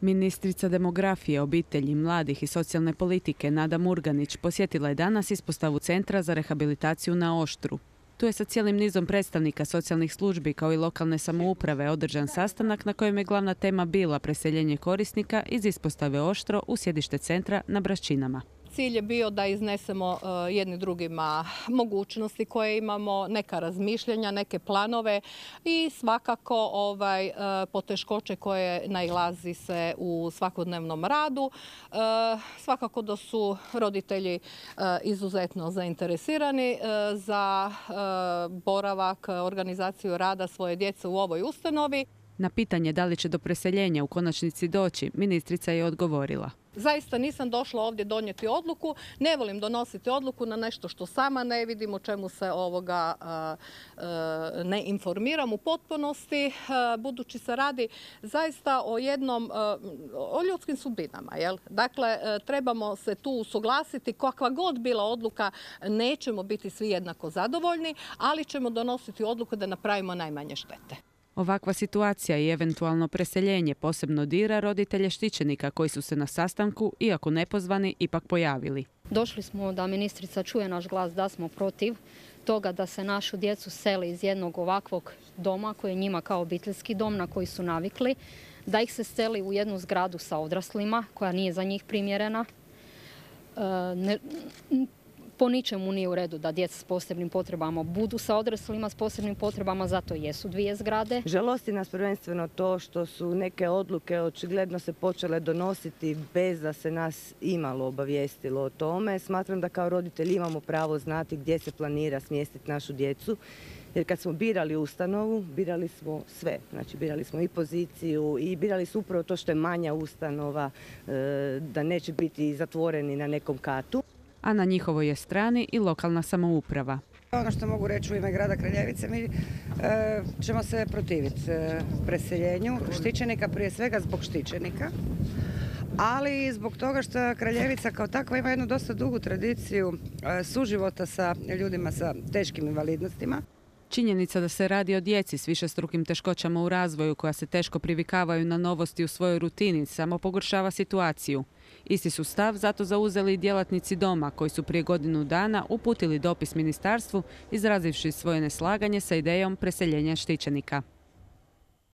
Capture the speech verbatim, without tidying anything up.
Ministrica demografije, obitelji, mladih i socijalne politike Nada Murganić posjetila je danas ispostavu Centra za rehabilitaciju na Oštru. Tu je sa cijelim nizom predstavnika socijalnih službi kao i lokalne samouprave održan sastanak na kojem je glavna tema bila preseljenje korisnika iz ispostave Oštro u sjedište centra na Braščinama. Cilj je bio da iznesemo jedni drugima mogućnosti koje imamo, neka razmišljanja, neke planove i svakako ovaj, poteškoće koje nailazi se u svakodnevnom radu. Svakako da su roditelji izuzetno zainteresirani za boravak, organizaciju rada svoje djece u ovoj ustanovi. Na pitanje da li će do preseljenja u konačnici doći, ministrica je odgovorila. Zaista nisam došla ovdje donijeti odluku, ne volim donositi odluku na nešto što sama ne vidim, o čemu se ovoga ne informiram u potpunosti, budući se radi zaista o jednom, o ljudskim sudbinama. Jel? Dakle, trebamo se tu usuglasiti, kakva god bila odluka, nećemo biti svi jednako zadovoljni, ali ćemo donositi odluku da napravimo najmanje štete. Ovakva situacija i eventualno preseljenje posebno dira roditelje štićenika koji su se na sastanku, iako nepozvani, ipak pojavili. Došli smo da ministrica čuje naš glas da smo protiv toga da se našu djecu seli iz jednog ovakvog doma koji je njima kao obiteljski dom na koji su navikli, da ih se seli u jednu zgradu sa odraslima koja nije za njih primjerena. E, ne, Po ničemu nije u redu da djeca s posebnim potrebama budu sa odraslima s posebnim potrebama, zato jesu dvije zgrade. Žalosti nas prvenstveno to što su neke odluke očigledno se počele donositi bez da se nas imalo obavijestilo o tome. Smatram da kao roditelji imamo pravo znati gdje se planira smjestiti našu djecu. Jer kad smo birali ustanovu, birali smo sve. Znači, birali smo i poziciju i birali su upravo to što je manja ustanova, da neće biti zatvoreni na nekom katu. A na njihovoj je strani i lokalna samouprava. Ono što mogu reći u ime grada Kraljevice, mi e, ćemo se protiviti e, preseljenju štićenika, prije svega zbog štićenika, ali i zbog toga što Kraljevica kao takva ima jednu dosta dugu tradiciju e, suživota sa ljudima sa teškim invalidnostima. Činjenica da se radi o djeci s višestrukim teškoćama u razvoju koja se teško privikavaju na novosti u svojoj rutini samo pogoršava situaciju. Isti su stav zato zauzeli i djelatnici doma koji su prije godinu dana uputili dopis ministarstvu izrazivši svoje neslaganje sa idejom preseljenja štićenika.